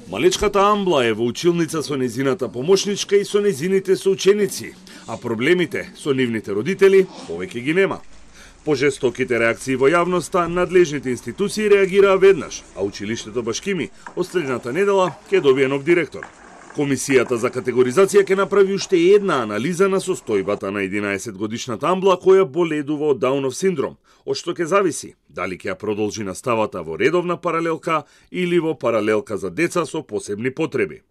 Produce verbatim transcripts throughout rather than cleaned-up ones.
Малечката Амбла е во училница со незината помошничка и со незините соученици, а проблемите со нивните родители повеќе ги нема. По жестоките реакции во јавноста, надлежните институции реагираа веднаш, а училиштето Башкими од следната недела ќе добие нов директор. Комисијата за категоризација ќе направи уште една анализа на состојбата на единаесетгодишната Амбла која боледува од Даунов синдром, од што ќе зависи дали ќе ја продолжи наставата во редовна паралелка или во паралелка за деца со посебни потреби.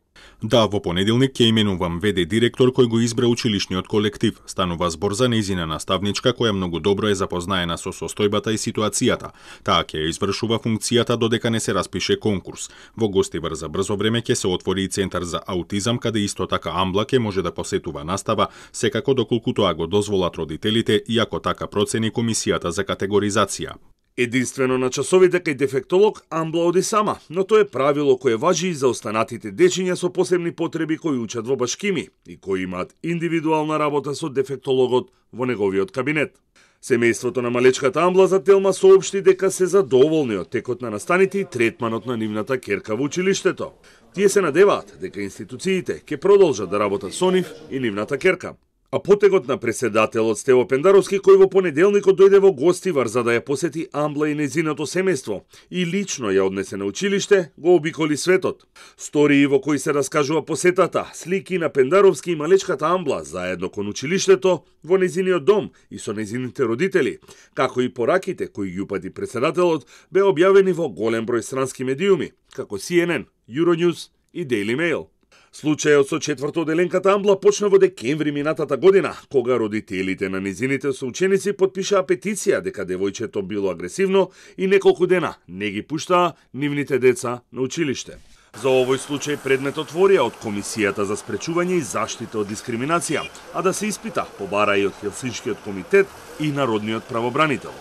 Да, во понеделник ќе именувам ве де директор кој го избра училишниот колектив. Станува збор за нејзина наставничка која многу добро е запознаена со состојбата и ситуацијата. Таа ќе ја извршува функцијата додека не се распише конкурс. Во Гостивар за брзо време ќе се отвори и центар за аутизам каде исто така Амбла ќе може да посетува настава, секако доколку тоа го дозволат родителите и ако така процени комисијата за категоризација. Единствено на часовите кај дефектолог Амбла оди сама, но тоа е правило кое важи и за останатите дечиња со посебни потреби кои учат во Башкими и кои имаат индивидуална работа со дефектологот во неговиот кабинет. Семејството на малечката Амбла за Телма соопшти дека се задоволни од текот на настаните и третманот на нивната керка во училиштето. Тие се надеваат дека институциите ќе продолжат да работат со нив и нивната керка. А потегот на преседателот Стево Пендаровски, кој во понеделникот дојде во Гостивар за да ја посети Амбла и незиното семејство и лично ја однесе на училиште, го обиколи светот. Стории во кои се раскажува посетата, слики на Пендаровски и малечката Амбла заедно кон училиштето, во незиниот дом и со незините родители, како и пораките кои ги упати преседателот, бе објавени во голем број странски медиуми, како Си Ен Ен, Euronews и Daily Mail. Случајот со четврто оделенката Амбла почна во декември минатата година, кога родителите на незините соученици потпишаа петиција дека девојчето било агресивно и неколку дена не ги пуштаа нивните деца на училиште. За овој случај предмет отворија од Комисијата за спречување и заштита од дискриминација, а да се испита побара и од Хелсиншкиот комитет и Народниот правобранител.